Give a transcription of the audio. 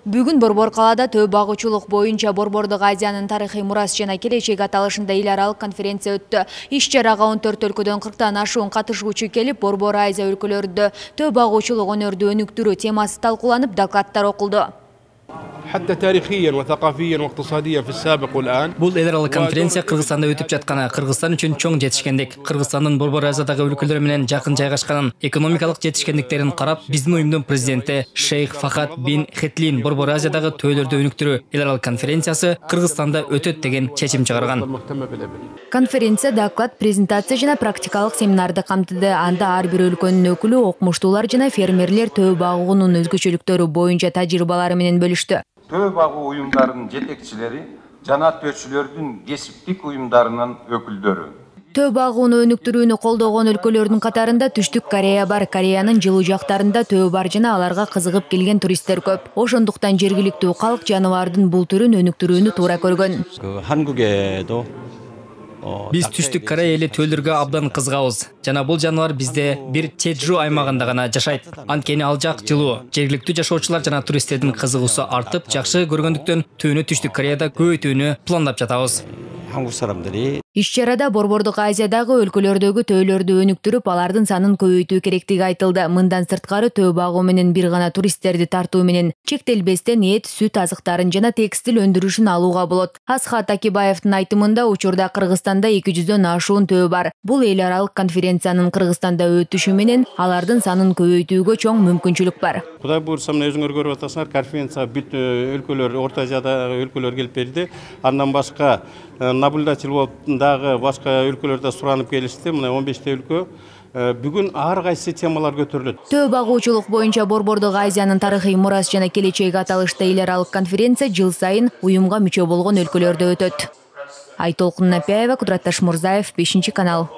Бүгүн Борбор калаада төө багуучулук боюнча Борбордук Азиянын тарыхый мурас жана келечек аталышында эл аралык конференция өттү. Иш-чарага 14 өлкөдөн 40тан ашуун катышуучу келип, Борбор Азия өлкөлөрүндө төө багуучулук өнөрдү өнүктүрүү темасы талкууланып, докладдар окулду. حتى تاريخيا وثقافيا واقتصاديا في السابق والآن. Бул эл аралык конференция Кыргызстанда өтүп жатканы Кыргызстан үчүн чоң жетишкендик. Кыргызстандын Борбор Азиядагы өлкөлөр менен жакын жайгашканын, экономикалык жетишкендиктерин карап, биздин уюмдун президенти Шейх Фахад бин Хетлин Борбор Азиядагы төөлөрдү өнүктүрүү эл аралык конференциясы Кыргызстанда өтөт деген чечим чыгарган. Конференция доклад, презентация жана практикалык семинарды камтыды. Анда ар бир өлкөнүн өкүлү окумуштуулар жана фермерлер төө багуунун өзгөчөлүктөрү боюнча тажрыйбалары менен бөлүштү. Төө багуу уюмдарынын жетекчилери жана tööчүлөрдүн кесиптик уюмдарынын өкүлдөрү. Төө багууну өнүктүрүүнү колдогон өлкөлөрдүн катарында Түштүк Корея бар. Кореянын жылуу жактарында төө бар жана аларга кызыгып келген туристтер көп. Ошондуктан жергиликтүү калк жаныбардын бул түрүн өнүктүрүүнү туура көргөн. Биз Түштүк Корея эли төөлөргө абдан кызыгабыз. Жана бул жаныбар бизде бир Чеджу аймагында гана жашайт. Анткени ал жак жылуу. Жергиликтүү жашоочулар жана туристтердин кызыгуусу артып, жакшы көргөндүктөн төөнү Түштүк Кореяда көбөйтүүнү пландап жатабыз. Иш-чарада Борбордук Азиядагы өлкөлөрдөгү төөлөрдү өнүктүрүп, алардын санын көбөйтүү керектиги айтылды. Мындан сырткары төө багуу менен бир гана туристтерди тартуу менен чектелбестен эт, сүт азыктарын жана текстил өндүрүшүн алууга болот. Асхат Акибаевдин айтымында учурда Кыргызстанда 200дөн ашуун төө бар. Бул эл аралык конференциянын Кыргызстанда өтүшү менен алардын санын көбөйтүүгө чоң мүмкүнчүлүк бар. Кудай буйрса, мына өзүңөр көрүп атасыңар, конференция бүт өлкөлөр, Орто Азиядагы өлкөлөр келип берди. Андан башка наблюдатель болуп дагы башка өлкөлөрдө суранып келишти. Мына 15 өлкө. Бүгүн ар кайсы темалар көтөрүлөт. Төө багуучулук боюнча Борбордук Азиянын тарыхый мурас жана келечек аталышта эл аралык конференция жыл сайын уюмга мүчө болгон өлкөлөрдө өтөт. Айтолкун Напяева, Кудрат Ташмурзаев, 5 канал.